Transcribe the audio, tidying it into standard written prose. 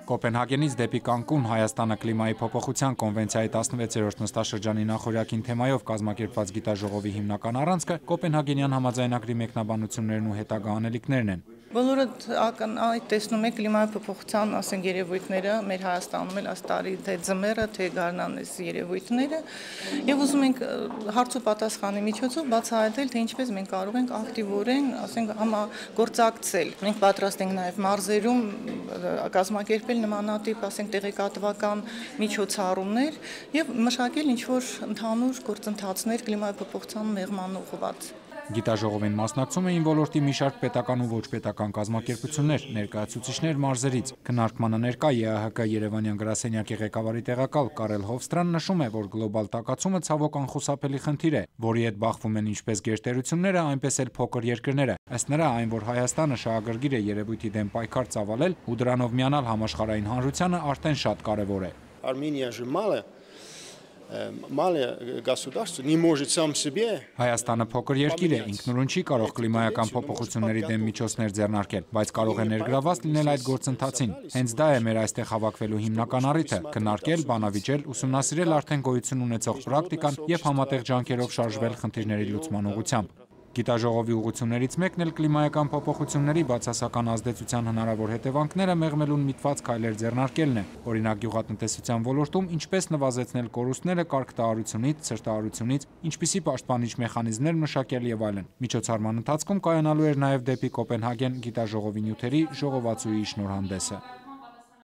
Կոպենհագենից դեպի Կանկուն Հայաստանը կլիմայի փոփոխության կոնվենցիայի 16-րդ նստաշրջանի նախօրյակին թեմայով կազմակերպված գիտաժողովի հիմնական առանցքը Կոպենհագենյան համաձայնագրի մեկնաբանություններն ու հետագա անելիքներն են։ Բոլորը ակնհայտ տեսնում եք կլիմայի փոփոխության երևույթները մեր Հայաստանում էլ այս տարի թե ձմեռը, թե գարնան երևույթները եւ ուզում ենք հարց ու պատասխանի միջոցով բացահայտել, թե ինչպես մենք կարող ենք ակտիվորեն, համագործակցել։ Մենք պատրաստ ենք նաեւ մարզերում կազմակերպել նմանատիպ, տեղեկատվական միջոցառումներ եւ մշակել ինչ-որ ընդհանուր գործընթացներ կլիմայի փոփոխության մեղման ուղղված։ Գիտաժողովին մասնակցում էին ոլորտի մի շարք պետական ու ոչ պետական կազմակերպություններ, ներկայացուցիչներ մարզերից։ Քննարկմանը ներկա ԵԱՀԿ Երևանյան գրասենյակի ղեկավարի տեղակալ Կարել Հովստրան նշում է, որ գլոբալ տաքացումը ցավոք անխուսափելի խնդիր է, որի հետ բախվում են ինչպես գերտերությունները, այնպես էլ փոքր երկրները։ Ըստ նրա, այն, որ Հայաստանը շահագրգիռ է երևույթի դեմ պայքար ծավալել ու դրանով միանալ համաշխարհային հանրությանը, արդեն շատ կարևոր է։ Армения же малое государство, не может сам себе. Հայաստանը փոքր երկիր է, ինքնուրույն չի կարող կլիմայական փոփոխությունների դեմ միջոցներ ձեռնարկել, բայց կարող է ներգրավված լինել այդ գործընթացին։ Հենց դա է մեր այստեղ հավաքվելու հիմնական առիթը՝ քննարկել, բանավիճել, ուսումնասիրել արդեն գոյություն ունեցող պրակտիկան եւ համատեղ ջանքերով շարժվել խնդիրների լուծման ուղղությամբ։ Գիտաժողովի ուղղություններից մեկն էլ կլիմայական փոփոխությունների բացասական ազդեցության հնարավոր հետևանքները մեղմելուն միտված քայլեր ձեռնարկելն է։ Օրինակ գյուղատնտեսության ոլորտում ինչպես նվազեցնել կորուստները կարգտահարությունից, ցրտահարությունից, ինչպիսի պաշտպանիչ մեխանիզմներ մշակել եւ այլն։ Միջոցառման ընթացքում կայանալու էր նաեւ դեպի Կոպենհագեն գիտաժողովի նյութերի ժողովածուի շնորհանդեսը։